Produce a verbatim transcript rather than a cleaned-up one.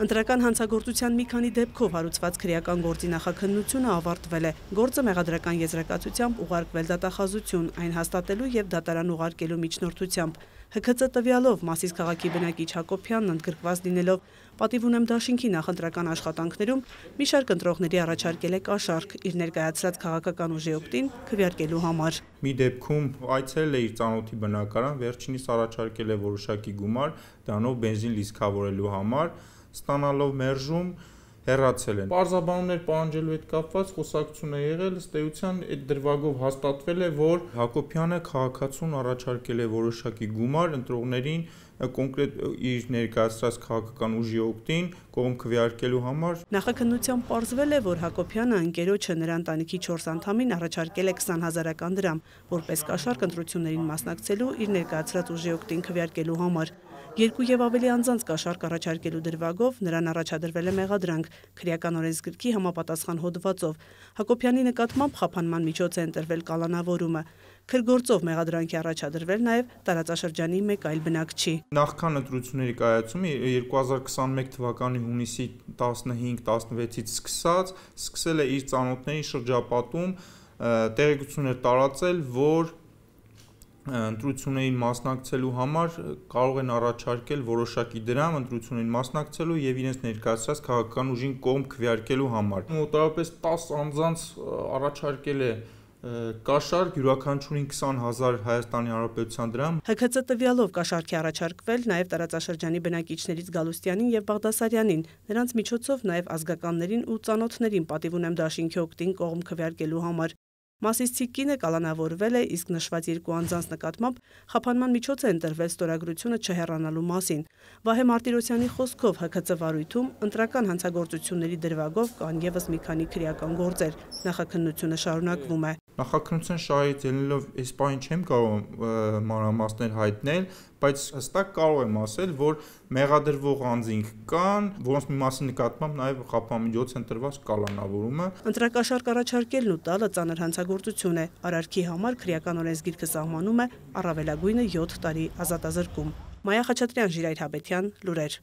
Ընտրական հանցագործության մի քանի դեպքով հարուցված քրեական գործի նախաքննությունը ավարտվել է։ Գործը մեղադրական եզրակացությամբ ուղարկվել դատախազություն, այն հաստատելու եւ դատարան ուղարկելու միջնորդությամբ։ Հ K C տվյալով Մասիս քաղաքի բնակիչ Հակոբյանն ընդգրկված լինելով պատիվ ունեմ դաշինքի նախընտրական աշխատանքներում մի շարք ընտրողների առաջարկել է կաշառք իր ներկայացրած քաղաքական ուժի օգտին քվեարկելու համար։ Մի դեպքում այցելել է իր ծանոթի բնակարան, վերջինիս առաջարկել է որոշակի գումար, դրանով բենզին լիցքավորելու համար, ստանալով մերժում հեռացել են։ Պարզաբանումներ պահանջելու հետ կապված խոսակցություն է եղել, ըստ էության այդ դրվագով հաստատվել է, որ Հակոբյանը քաղաքացուն առաջարկել է որոշակի գումար ընտրողներին կոնկրետ իր ներկայացրած քաղաքական ուժի օգտին կողմ քվեարկելու համար։ Նախաքննությամբ պարզվել է, որ Հակոբյանը ընկերոջը նրա ընտանիքի չորս անդամին առաջարկել է քսան հազարական դրամ, որպես կաշառք ընտրություններին մասնակցելու իր ներկայացրած ուժի օգտին քվեարկելու համար։ Երկու եւ ավելի անձանց կաշառք առաջարկելու դրվագով նրան առաջադրվել է մեղադրանք քրեական օրենսգրքի համապատասխան հոդվածով։ Հակոբյանի նկատմամբ խափանման միջոց է ընտրվել կալանավորումը։ Քրգործով մեղադրանքի առաջադրվել նաեւ տարածաշրջանի մեկ այլ բնակչի։ Նախքան ընտրությունների կայացումը երկու հազար քսանմեկ թվականի հունիսի տասնհինգ տասնվեցից սկսած սկսել է իր ծանոթների շրջապատում տեղեկություններ տարածել, որ ընտրություններին մասնակցելու համար կարող են առաջարկել որոշակի դրամ ընտրություններին մասնակցելու եւ իրենց ներկայացրած քաղաքական ուժին կողմ քվեարկելու համար։ Մոտավորապես տասը անձանց առաջարկել է կաշառք, յուրաքանչյուրին քսան հազար Հայաստանի Հանրապետության դրամ։ Հ K C տվյալով կաշառք է առաջարկվել նաեւ տարածաշրջանի բնակիչներից Գալուստյանին եւ Բաղդասարյանին, նրանց միջոցով նաեւ ազգականներին ու ծանոթներին պատիվ ունեմ դաշինքի օգտին կողմ քվեարկելու համար։ Մասիսցի կինը կալանավորվել է, իսկ նշված երկու անձանց նկատմամբ խափանման միջոց է ընտրվել ստորագրությունը չհեռանալու մասին։ Վահե Մարտիրոսյանի խոսքով Հ K C վարույթում ընտրական հանցագործությունների դրվագով կան եւս մի քանի քրեական գործեր։ Նախաքննությունը շարունակվում է։ Նախաքննության շահից ելնելով այս պահին չեմ կարող մանրամասներ հայտնել, բայց հստակ կարող եմ ասել, որ մեղադրվող անձինք կան, որոնց մի մասի նկատմամբ նաև խափամիջոց են տրված կալանավորումը։ Ընտրակաշառք առաջարկելն ու տալը ծանր հանցագործություն է։ Արարքի համար քրեական օրենսգիրքը սահմանում է առավելագույնը յոթ տարի ազատազրկում։ Մայա Խաչատրյան, Ժիրայր Հաբետյան, լուրեր։